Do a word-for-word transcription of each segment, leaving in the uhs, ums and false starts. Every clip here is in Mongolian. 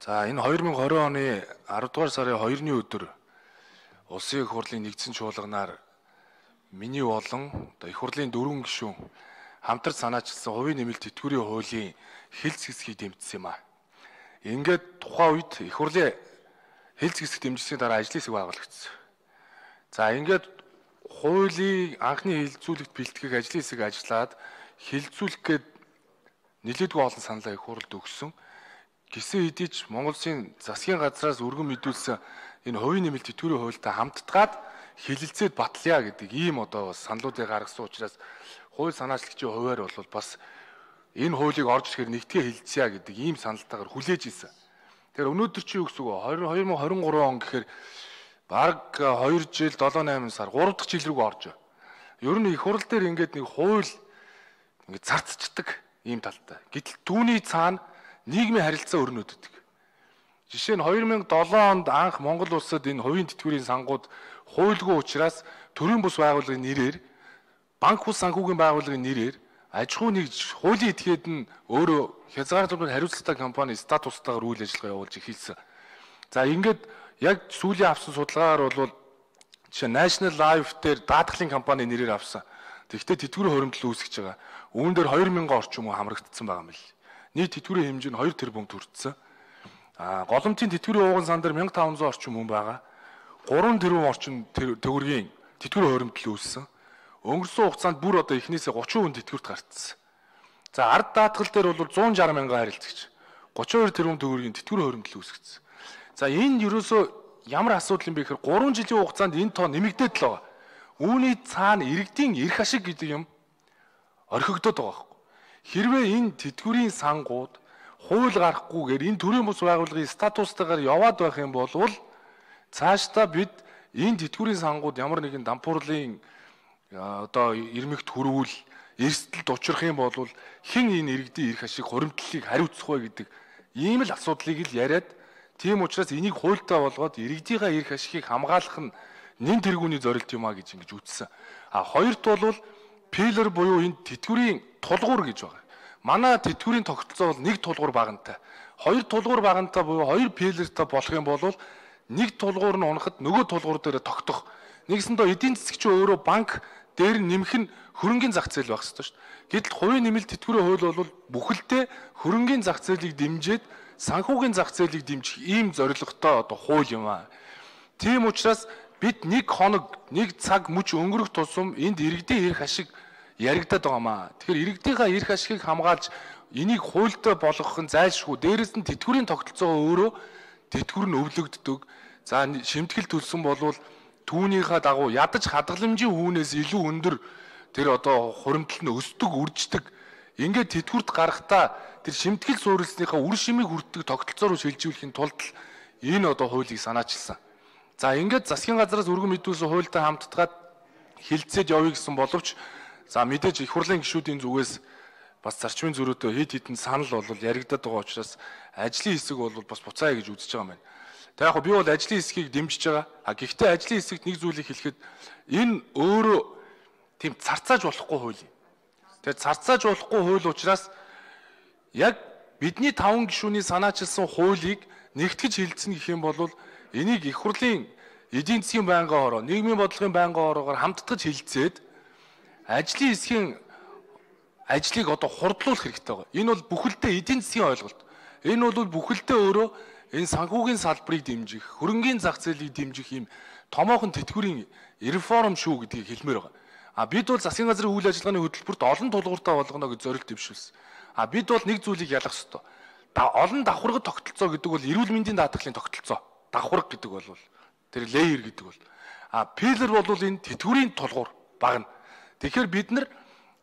За энэ хоёр мянга хорин оны аравдугаар сарын хоёрны өдөр Улсын их хурлын нэгдсэн чуулганаар миний болон одоо их хурлын дөрвөн гишүүн хамтарч санаачилсан хувийн нэмэлт тэтгэврийн хуулийн хэлц хэсгийг дэмжсэн юм а. Ингээд тухайн үед их хурлын хэлц хэсэг дэмжсэний дараа ажлын хэсэг байгуулагдсан. За ингээд хуулийн анхны хилцүүлэгт бэлтгэх ажлын хэсэг ажиллаад хилцүүлэх гээд нэлээдгүй олон саналаа их хурлд өгсөн. Гисэн хэдий ч Монгол Улсын засгийн газраас өргөн мэдүүлсэн энэ хувийн нэмэлт тэтгэврийн хуультай хамтдгаад хилэлцээд батлая гэдэг ийм одоо саналуудыг гаргасан учраас хууль санаачлагчийн хуваар бол бас энэ хуулийг орж ирэхээр нэгтгээ хилцъя гэдэг ийм саналтайгаар хүлээж ийсэн. Тэгэхээр өнөөдөр чи юу гэсэн үг вэ? хоёр мянга хорин гурван он гэхээр бараг хоёр жил долоо найман сар гурав дахь жил рүү орж. Ер нь их хурл дээр ингээд нэг хууль ингээд зарцчдаг ийм талтай. Гэтэл түүний цаана нийгмийн харилцаа өрнөддөг. Жишээ нь хоёр мянга долоо онд анх Монгол улсад энэ хувийн тэтгэврийн сангууд хуульгүй учраас төрийн бус байгууллагын нэрээр банк бус санхүүгийн байгууллагын нэрээр аж ахуй нэгж хуулийн этгээд нь өөрөө хязгаарлалт хариуцлагатай компани статустайгаар үйл ажиллагаа явуулж эхэлсэн. За ингээд яг сүүлийн авсан судалгаагаар бол жишээ National Life дээр даатгалын компани нэрээр авсан. Тэгэхдээ тэтгэврийн хуримтлал үүсгэж байгаа. Үүн дээр хоёр мянга орчим хүн хамрагдсан байгаа юм л. Нийт тэтгэврийн хэмжээ нь хоёр тэрбум төрчихсөн. А голомтын тэтгэврийн ууган сан дээр мянга таван зуун орчим хүн байгаа. гурван тэрбум орчим төгрөгийн тэтгэврийн хуримтлал үүссэн. Өнгөрсөн хугацаанд бүр одоо эхнээсээ гучин хүн тэтгэврт гарцсан. За ард даатгал дээр бол зуун шарх мянган харилцагч гучин хоёр тэрбум төгрөгийн тэтгэврийн хуримтлал үүсгэсэн. За энэ ерөөсөө ямар асуудал юм бэ гэхээр гурван жилийн хугацаанд энэ тоо нэмэгдээд л байгаа. Үүний цаана иргэдийн эрх ашиг гэдэг юм орхигдоод байгаа байхгүй. Хэрвээ энэ тэтгэврийн сангууд хууль гарахгүйгээр энэ төрийн бус байгууллагын статустайгаар яваад байх юм бол цаашдаа бид энэ тэтгэврийн сангууд ямар нэгэн дампуурлын одоо ирмэгт хүрвэл эрсдэлд учрах юм бол хэн энэ иргэдийн эрх ашиг хуримтлалыг хариуцах вэ гэдэг ийм л асуудлыг л яриад тийм учраас энийг хуультай болгоод иргэдийн эрх ашигыг хамгаалах нь нэн тэргүүний зорилт юм а гэж ингэж үзсэн. А хоёрт бол пилер буюу энэ тэтгэврийн тулгуур гэж байгаа. Манай тэтгэврийн тогтолцоо бол нэг тулгуур багантай. Хоёр тулгуур багантай буюу хоёр пилертэй болох юм бол нэг тулгуур нь унахад нөгөө тулгуур дээр тогтох. Нэгсэндээ эдийн засгч өөрөө банк дээр нэмэх нь хөрөнгөний зах зээл байх ёстой шүү дээ. Гэтэл хувийн нэмэлт тэтгэврийн хууль бол бүхэлдээ хөрөнгөний зах зээлийг дэмжиж санхүүгийн зах зээлийг дэмжих ийм зорилготой одоо хууль юм аа. Тийм учраас бид нэг хоног нэг цаг мөч өнгөрөх тусам энд иргэдийн эрх ашиг яригадаад байгаа маа. Тэгэхээр иргэдийнхаа эрх ашигыг хамгаалж энийг хуультай болгох нь зайлшгүй. Дээрээс нь тэтгэврийн тогтолцоо өөрөө тэтгэвэр нь өвлөгддөг. За шимтгэл төлсөн болвол түүнийхээ дагуу ядаж хадгаламжийн үүнээс илүү өндөр тэр одоо хуримтлал нь өсдөг, үрждэг. Ингээд тэтгэврт гарахтаа тэр шимтгэл суурилсныхаа үр шимийг хүртдэг тогтолцоо руу шилжүүлэхийн тулд энэ одоо хуулийг санаачилсан. За ингээд засгийн газраас өргөн мэдүүлсэн хуультай хамтдаад хилцээд явъя гэсэн боловч за мэдээж их хурлын гишүүдийн зүгээс бас зарчмын зөрүүтэй хэд хэдэн санал бол яригадаад байгаа учраас ажлын хэсэг бол бас буцаая гэж үзэж байгаа юм байна. Тэг яг би бол ажлын хэсгийг дэмжиж байгаа. А гэхдээ ажлын хэсэгт нэг зүйлийг хэлэхэд энэ өөрөө тийм царцааж болохгүй хууль юм. Тэгээд царцааж болохгүй хууль учраас яг бидний таван гишүүний санаачилсан хуулийг нэгтгэж хилцэн гэх юм бол энийг их хурлын эдийн засгийн байнгын хороо, нийгмийн бодлогын байнгын хороогоор хамтдаж хилцээд ажлын хэсгийн ажлыг одоо хурдлуулах хэрэгтэй байгаа. Энэ бол бүхэлдээ эдийн засгийн ойлголт. Энэ бол бүхэлдээ өөрөө энэ санхүүгийн салбарыг дэмжих, хөрөнгөний зах зээлийг дэмжих юм томоохон тэтгэврийн реформ шүү гэдгийг хэлмээр байгаа. А бид бол засгийн газрын үйл ажиллагааны хөтөлбөрт олон тулгууртай болгоно гэж зорилт дэвшүүлсэн. А бид бол нэг зүйлийг ялах ёстой. Олон давхаргад тогтолцоо гэдэг бол эрүүл мэндийн даатгалын тогтолцоо. Давхарга гэдэг бол тэр леер гэдэг бол. А пилер бол энэ тэтгэврийн тулгуур багна. Тэгэхээр бид нар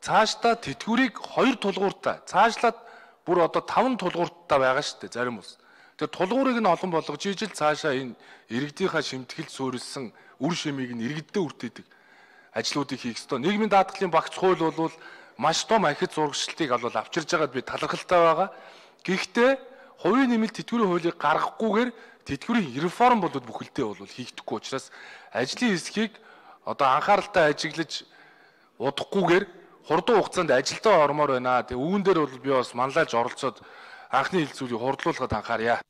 цаашдаа тэтгэврийг хоёр тулгууртай, цаашлаад бүр одоо таван тулгууртай байгаа шүү дээ зарим ус. Тэр тулгуурыг нь олон болгож ижил цаашаа энэ иргэдийнхаа шимтгэл суурилсан үр шимийг нь иргэддээ үртээдэг ажлуудыг хийх ёстой. Нийгмийн даатгалын багц хууль бол маш том ахиц зурагчлалтыг бол авчирж байгаад би талархалтай байгаа. Гэхдээ хувийн нэмэлт тэтгэврийн хуулийг гаргахгүйгээр тэтгэврийн реформ бол бүхэлдээ бол хийгдэхгүй учраас ажлын хэсгийг одоо анхааралтай ажиглаж удахгүйгээр хурдан хугацаанд ажилдаа ормоор байна. Тэгээ үүн дээр бол би бас манлайлж оролцоод анхны хилцүүлгийг хурдлуулахад анхаарья.